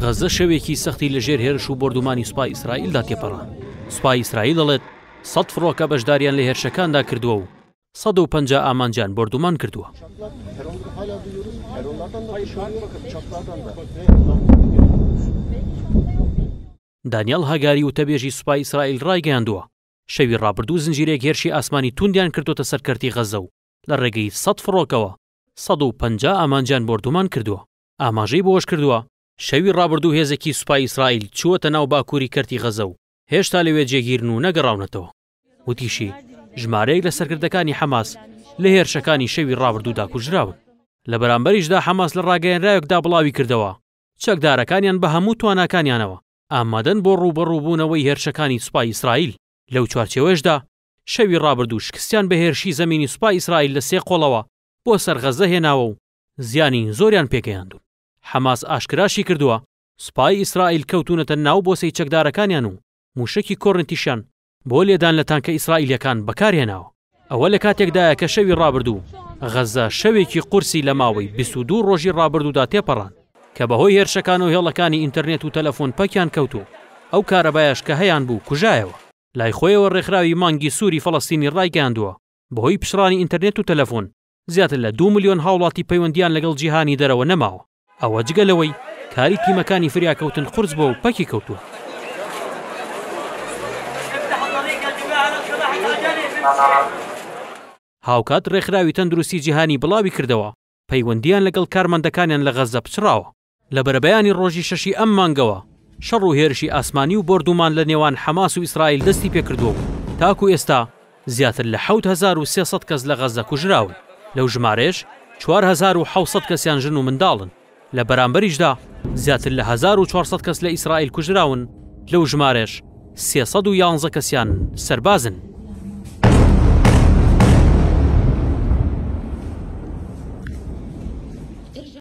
غەززە شەوێکی سەختی لەژێر هێرش و بۆردومانی سوپای ئیسرائیلدا تێپەڕاند. سوپای ئیسرائیل دەڵێت، سەد فڕۆکە بەشداریان لە هێرشەکاندا کردووە و 150 ئامانجیان بۆردومان کردووە. دانیال هاگاری وتەبێژی سوپای ئیسرائیل ڕایگەیاندووە، شەوی ڕابردوو زنجیرەیەک هێرشی ئاسمانی تووندیان کردۆتە سەر کەرتی غەززە و لە ڕێگەی سەد فڕۆکەوە 150 ئامانجیان بۆردومان کردووە. ئاماژەی بەوەشکردووە، شەوی ڕابردوو هێزێکی سوپای ئیسرائیل چووەتە ناو باکووری کەرتی غەززە و هێشتا لەوێ جێگیرن و نەگەڕاونەتەوە. وتیشی، ژمارەیەک لە سەرکردەکانی حەماس لە هێرشەکانی شەوی ڕابردوودا کوژراون. لە بەرامبەریشدا حەماس لە ڕاگەیەنراوێکدا بڵاویکردەوە، چەکدارەکانیان بە هەموو تواناکانیانەوە ئامادەن بۆ ڕووبەڕووبوونەوەی هێرشەکانی سوپای ئیسرائیل، لەو چوارچێوەیەشدا شەوی ڕابردوو شکستیان بە هێرشی زەمینی سوپای ئیسرائیل لە سێ قۆڵەوە بۆ سەر غەززە هێناوە و زیانی زۆریان پێگەیاندوون. حەماس ئاشکراشی کردووە، سوپای ئیسرائیل کەوتوونەتە ناو بۆسەی چەکدارەکانیان و مووشەکی کۆرنتیشیان بۆ لێدان لە تانکە ئیسرائیلییەکان بەکارهێناوە. ئەوە لە کاتێکدایە کە شەوی ڕابردوو غەززە شەوێکی قورسی لە ماوەی 22 ڕۆژی ڕابردوودا تێپەڕاند کە بەهۆی هێرشەکان و هێڵەکانی ئینتەرنێت و تەلەفۆن پەکیان کەوت و ئەو کارەبایەش کە هەیانبوو کوژایەوە. لای خۆیەوە ڕێکخراوی مانگی سووری فەڵەستینی ڕایگەیاندووە، بەهۆی پچڕانی ئینتەرنێت و تەلەفۆن زیاتر لە دوو ملیۆن هاوڵاتی پەیوەندییان لەگەڵ جیهانی دەرەوە نەماوە. ئەوە جگە لەوەی کاری تیمەکانی فریاکەوتن قورس بووە و پەکی کەوتووە. هاوکات ڕێکخراوی تەندروستی جیهانی بڵاویکردەوە، پەیوەندییان لەگەڵ کارمەندەکانیان لە غەززە پچڕاوە. لە بەرەبەیانی ڕۆژی شەشی ئەم مانگەوە شەڕ و هێرشی ئاسمانی و بۆردومان لە نێوان حەماس و ئیسرائیل دەستی پێکردووە و تاکو ئێستا زیاتر لە 7300 کەس لە غەززە کوژراون، لەو ژمارەیەش 4700 کەسیان ژن و منداڵن، لە بەرامبەریشدا زیاتر لە 1400 کەس لە ئیسرائیل کوژراون، لەو ژمارەش 311 کەسیان سەربازن.